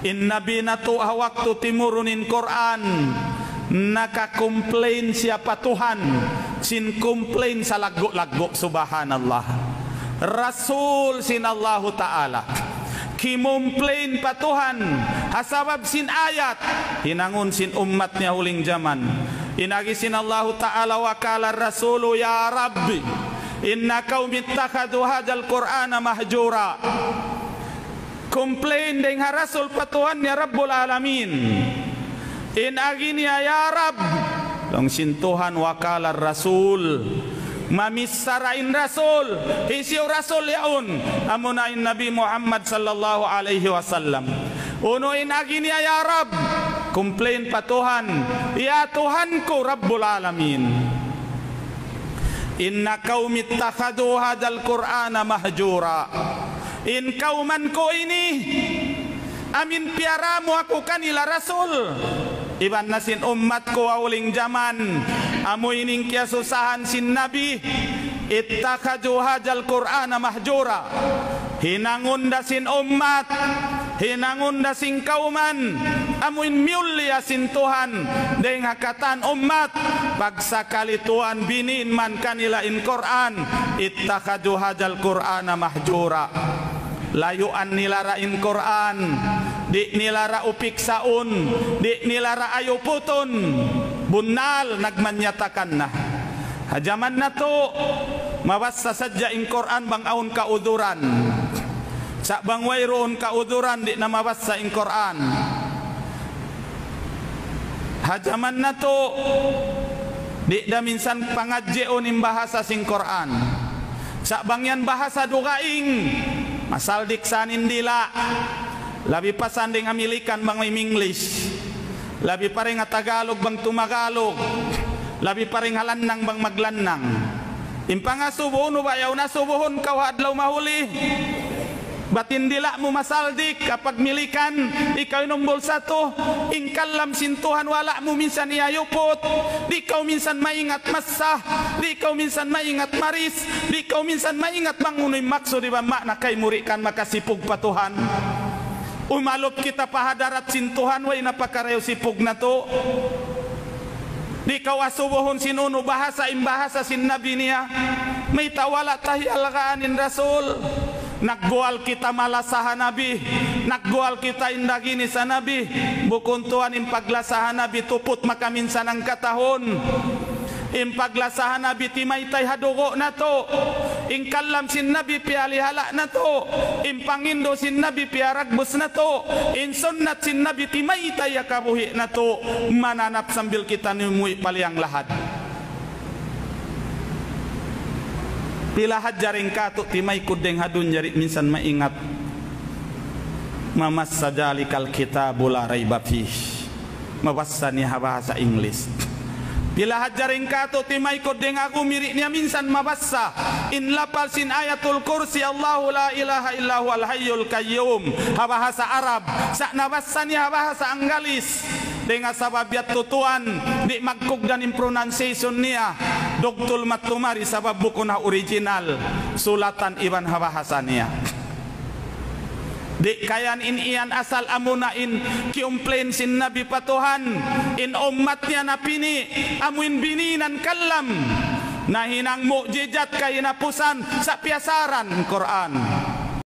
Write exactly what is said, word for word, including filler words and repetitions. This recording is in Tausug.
In Nabi natu' ha waktu timurun in Qur'an, naka-complain siya pa Tuhan, sin complain salaggu'-laggu', subhanallah. Rasul sin Allahu Ta'ala, kimumplain pa Tuhan, ha sabab sin ayat, hinangun sin ummat niya huling jaman. In agi sin Allahu Ta'ala, وقال الرسول يا رب إن قومي اتخذوا هذا القرآن مهجورا. Complain dayn ha Rasul pa Tuhan niya Rabbul Alamin. In agi niya, "Ya Rabb," laung sin Tuhan, وقال الرسول. Mamichara in Rasul. Hisiyu Rasul yaun? Amuna in Nabi Muhammad sallallahu alayhi wasallam. Unu in agi niya, "Ya Rabb," complain pa Tuhan, "Ya Tuhan ku Rabbul Alamin. إن قومي اتخذوا هذا القرآن مهجورا." In kawman ku ini, amu in piyaramu aku kanila Rasul, iban na sin ummat ku ha huling jaman, amu ini in kiyasusahan sin Nabi, اتخذوا هذا القرآن مهجورا. Hinangun da sin ummat, hinangun da sin kawman, amu in miyulliya sin Tuhan, dayn ha katan ummat, pagsakali Tuhan binin man kanila in Qur'an, اتخذوا هذا القرآن مهجورا. Layuan nila ra in Qur'an, di' nila ra upiksaun, di' nila ra ayuputun. Bunnal nagmanyatakan na. Ha jaman natu', mabassa sadja in Qur'an bang awn kauduran. Sa' bang wayruun kauduran, di' na mabassa in Qur'an. Ha jaman natu', di' da minsan pangadjiun in bahasa sin Qur'an. Sa' bang yan bahasa dugaing, masaldik sa in dila'. Labi pa sa dayn Amerikan bang may English. Labi pa dayn ha Tagalog bang tumagalog. Labi pa dayn ha lannang bang maglannang. In pangasubu, unu ba yaun, asubuhun kaw ha adlaw mahuli? Bat in dila' mu masaldik, kapag Milikan, ikaw in umbul satu, in kalam sin Tuhan wala' mu minsan iyayuput, di' kaw minsan maingat massa, di' kaw minsan maingat maris, di' kaw minsan maingat bang unu in maksud iban ma'na kaymu di' kan makasipug pa Tuhan. Umalup kita pa hadarat sin Tuhan, way na pakarayaw sipug natu'. Di' kaw asubuhun sin unu bahasa in bahasa sin Nabi niya. Mayta' wala' ta hiyalgaan in Rasul? Nagguwal kita malasa ha Nabi. Nagguwal kita in daginis ha Nabi. Bukun tuwan in paglasa ha Nabi tuput makaminsan hangkatahun. In paglasa ha Nabi timaytay ha dugu' natu'. In kalam sin Nabi piyalihala' natu'. In pangindu' sin Nabi piyaragbus natu'. In sunnat sin Nabi timaytay ha kabuhi' natu'. Mananap sambil kita numuwi' pa liyang lahad. Pila hadja dayn katu' timaykud dayn ha dunya di' minsan maingat mamassa ذلك الكتاب لا ريب فيه. Mabassa niya ha bahasa English. Pila hadja dayn katu' timaykud dayn ha gumi di' niya minsan mabassa in lapal sin Ayatul Kursi, الله لا إله إلا هو الحي القيوم, ha bahasa Arab. Sa' nabassa niya ha bahasa Anggalis. Dayn ha sabab yadtu tuwan, di' magkugdan in pronunciation niya. Dugtul matumari sabab bukun ha original sulatan iban ha bahasa niya. Di' kayan in iyan asal amuna in kiyumplain sin Nabi pa Tuhan, in ummat niya napini', amu in bininan kalam, nahinang mu'jizat kahinapusan sa' piyasaran Qur'an.